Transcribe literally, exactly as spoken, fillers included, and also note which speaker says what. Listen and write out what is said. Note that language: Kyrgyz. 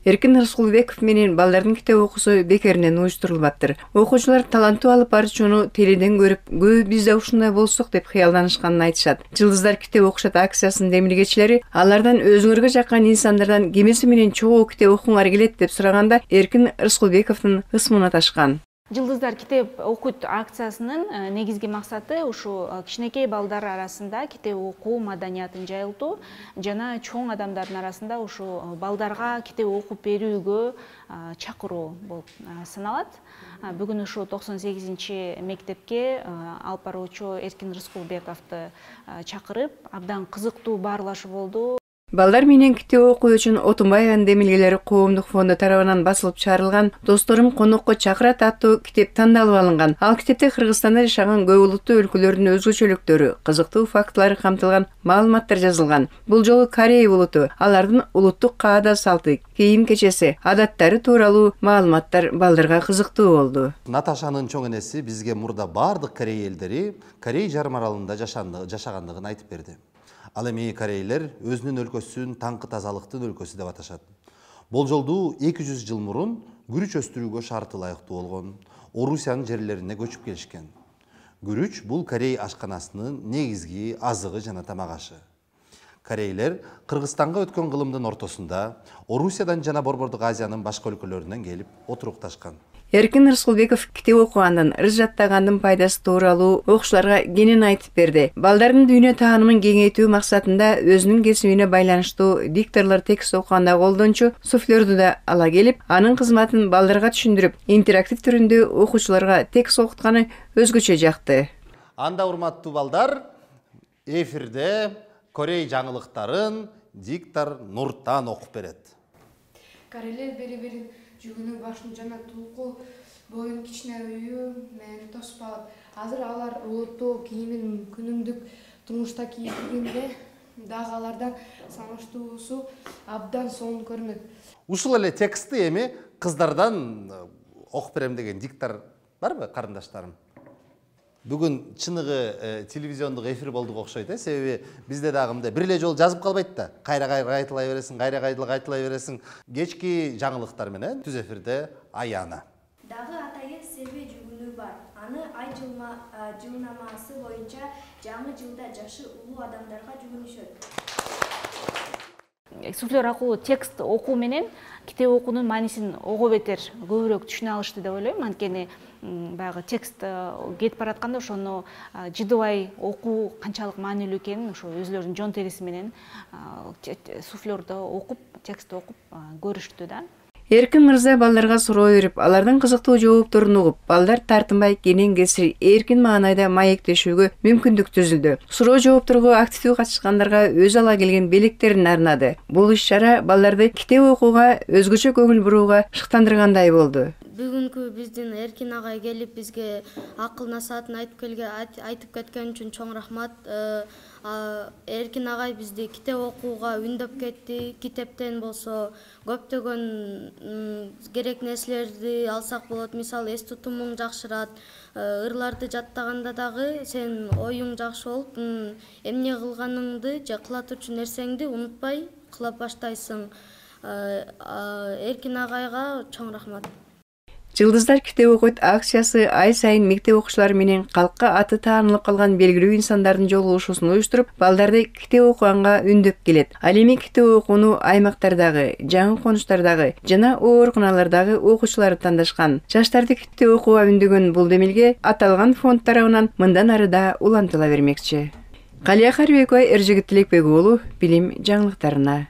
Speaker 1: Эркин Рыскулбеков менен балдардын китеп окуусу бекеринен уюштурулбаптыр. Окуучулар таланттуу алып баруучуну теледен көрүп, көбү биз да ушундай болсок деп кыялданышканын айтышат. Жылдыздар китеп окушат акциясынын демилгечилери алардан өзүңөргө жаккан инсандардан кемеси менен чогуу китеп окуңар келет деп сураганда Эркин Рыскулбековдун ысмына ташкан.
Speaker 2: Жылдыздар китеп окут акциясынын негизги максаты ушу кичинекей балдар арасында китеп окуу маданиятын жайылтуу жана чоң адамдардын арасында ушу балдарга китеп окуп берүүгө чакыруу болуп саналат. Бүгүн ушу токсон сегизинчи мектепке алып баруучу Эркин Рыскулбековду чакырып, абдан кызыктуу баарлашуу болду.
Speaker 1: Балдар менен китеп окуу үчүн Отунбаеванын демилгелери коомдук фонду тарабынан басылып чыгарылган «Досторум конокко чакырат» аттуу китеп тандалып алынган. Ал китепте Кыргызстанда жашаган көп улуттуу өлкөлөрдүн өзгөчөлүктөрү, кызыктуу фактылары камтылган маалыматтар жазылган. Бул жолу Корея улуту, алардын улуттук каада салты, кийим кечеси, адаттары тууралуу маалыматтар балдарга кызыктуу болду.
Speaker 3: Наташанын чоң энеси бизге мурда бардык Корея элдери Корей жарым аралында жашагандыгын айтып берди. Ал эми корейлер өзүнүн өлкөсүн таңкы тазалыктын өлкөсү деп аташат. Болжолду эки жүз жыл мурун күрүч өстүрүүгө шарты ылайыктуу болгон Орусиянын жерлерине көчүп келишкен. Күрүч бул Корей ашканасынын негизги азыгы жана тамак ашы. Корейлер Кыргызстанга өткөн кылымдын ортосунда Орусиядан жана Борбордук Азиянын башка өлкөлөрүнөн келип отурукташкан.
Speaker 1: Эркин Рыскулбеков китеп окугандан, ырыс жаттагандын пайдасы тууралуу окуучуларга кенен айтып берди. Балдардын дүйнө таанымын кеңейтүү максатында өзүнүн кесибине байланыштуу дикторлор текст окуганда колдончу суфлерду да ала келип, анын кызматын балдарга түшүндүрүп, интерактив түрүндө окуучуларга текст окутканы өзгөчө жакты.
Speaker 3: Анда урматтуу балдар, эфирде Корей жаңылыктарын диктор Нуртан окуп берет.
Speaker 4: Корейлер бери-берин жүгүнү башын жана тулку боюн кичине үйү менен тосуп алып, азыр алар улуттуу кийимин күнүмдүк турмушта кийип киргенде дагы алардан салыштуусу абдан сонун көрүнөт.
Speaker 3: Ушул эле текстти эми кыздардан окуп берем деген диктор барбы, карындаштарым? Бүгүн чыныгы телевизиондук эфир болдук окшойт, э, себеби бизде дагы мындай бир эле жолу жазып калбайт да. Кайра-кайра айтылай бересиң, кайра-кайра айтылай бересиң. Кечки жаңылыктар менен түз эфирде Аяна.
Speaker 5: Дагы атайын себе жүгүнү бар. Аны ай жылнамасы боюнча жаңы жылда жашы улуу адамдарга жүгүнүшөт.
Speaker 2: Суфлер аркылуу текст окуу менен китеп окуунун маанисин ого бетер көбүрөөк түшүнө алышты деп ойлойм. Анткени баягы текст кетип баратканда ошону жыдыбай окуу канчалык маанилүү экенин ошо өзүлөрүнүн жон териси менен суфлерду окуп, текстти окуп көрүштү да.
Speaker 1: Эркин мырза балдарга суроо берип, алардын кызыктуу жоопторун угуп, балдар тартынбай кенен кесир эркин маанайда маектешүүгө мүмкүндүк түзүлдү. Суроо жоопторго активдүү катышкандарга өз ала келген белектерин арнады. Бул иш-чара балдарды китеп окууга, өзгөчө көңүл бурууга шыктандыргандай болду.
Speaker 6: Бүгүнкү биздин Эркин агай келип бизге акыл насаатын айтып келген, айтып кеткен үчүн чоң рахмат. Эркин агай бизди китеп окууга үндөп кетти. Китептен болсо көптөгөн керек нерселерди алсак болот. Мисалы, эс тутумуң жакшырат. Ырларды жаттаганда дагы сен оюң жакшы болуп, эмне кылганыңды же кыла турчу нерсеңди унутпай кыла баштайсың. Эркин агайга чоң рахмат.
Speaker 1: Жылдыздар китеп окуйт акциясы ай сайын мектеп окуучулары менен калкка аты таанылып калган белгилүү инсандардын жолугушуусун уюштуруп, балдарды китеп окуганга үндөп келет. Ал эми китеп окууну аймактардагы, жаңы конуштардагы жана ооруканалардагы окуучулары тандашкан. Жаштарды китеп окууга үндөгөн бул демилге аталган фонд тарабынан мындан ары да улантыла бермекчи. Калия Карыбекова, Эржигит Тилекбек уулу, билим жаңылыктарына.